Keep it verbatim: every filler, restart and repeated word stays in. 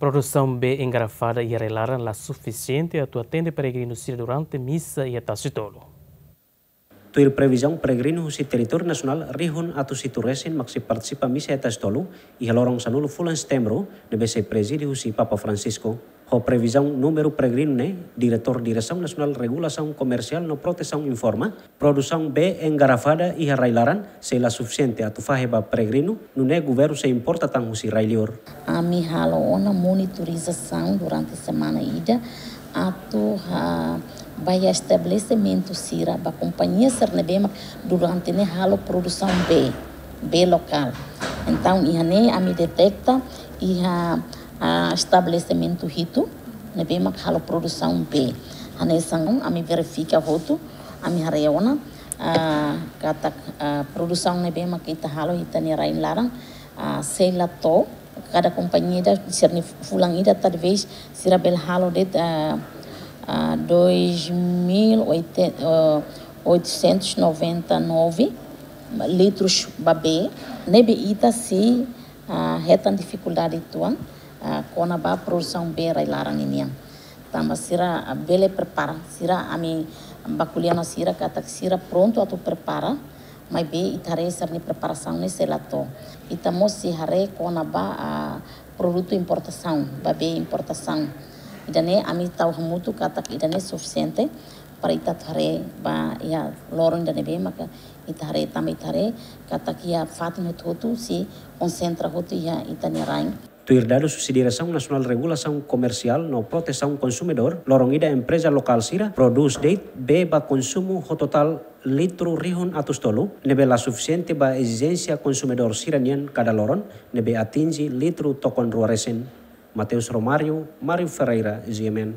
Produsaun bee engarrafada iha rai-laran la sufisiente atu atende peregrinu sira durante misa iha Tasitolu. Tuir previzaun, peregrinu husi territóriu nasionál rihun atus hitu resin mak sei partisipa misa iha Tasitolu iha loron sanulu fulan Setembru, ne'ebé sei prezide husi Papa Francisco. Ho previzaun númeru peregrinu ne'e, Diretór Diresaun Nasionál Regulasaun Komersiál no Protesaun informa, produsaun bee engarrafada iha rai-laran sei la sufisiente atu fahe ba peregrinu, nune'e governu sei importa tan husi rai-liur. Ami halo ona monitorizasaun durante semana ida, atu ha, ba iha estabelesimentu sira, ba kompañia sira ne'ebé mak durante ne'e halo produsaun bee, bee lokál. Entaun, iha ne'e ami deteta iha, ah, estabelesimentu hitu ne'ebé mak halo produsaun bee. Hanesan ami verifika hotu, ami haree ona, ah, katak, ah, produsaun ne'ebé mak ita halo iha ita-nia rai-laran, ah, sei la to'o, kada kompañia ida sira-nia fulan ida talvés sira bele halo de'it, ah, ah, dois mil oitocentos e noventa e nove litros ba bee, ne'ebé ita sei, ah, hetan difikuldade uitoan, ah, kona-ba produsaun bee rai-laran ninian. Tanba sira, ah, bele prepara, sira ami bá ko'alia ona sira katak sira prontu atu prepara, maibé ita haree sira-nia preparasaun ne'e sei la to'o. Ita mós sei haree kona-ba, ah, produtu importasaun, ba bee importasaun. Ida-ne'e ami tau hamutuk katak ida-ne'e sufisiente para ita atu haree ba iha loron ida ne'ebé maka ita haree tanba ita haree katak iha fatin hotu-hotu sei konsentra hotu iha ita-nia rain. Tuir dadus husi Diresaun Nasionál Regulasaun Komersiál no Protesaun Konsumidór, loron ida empreza lokál sira produz de'it bee ba konsumu ho totál litru rihun atus tolu, ne'ebé la sufisiente ba ezijénsia konsumidór sira-nian kada loron, ne'ebé atinje litru tokon rua resin. Mateus Romário, Mário Ferreira, G M N.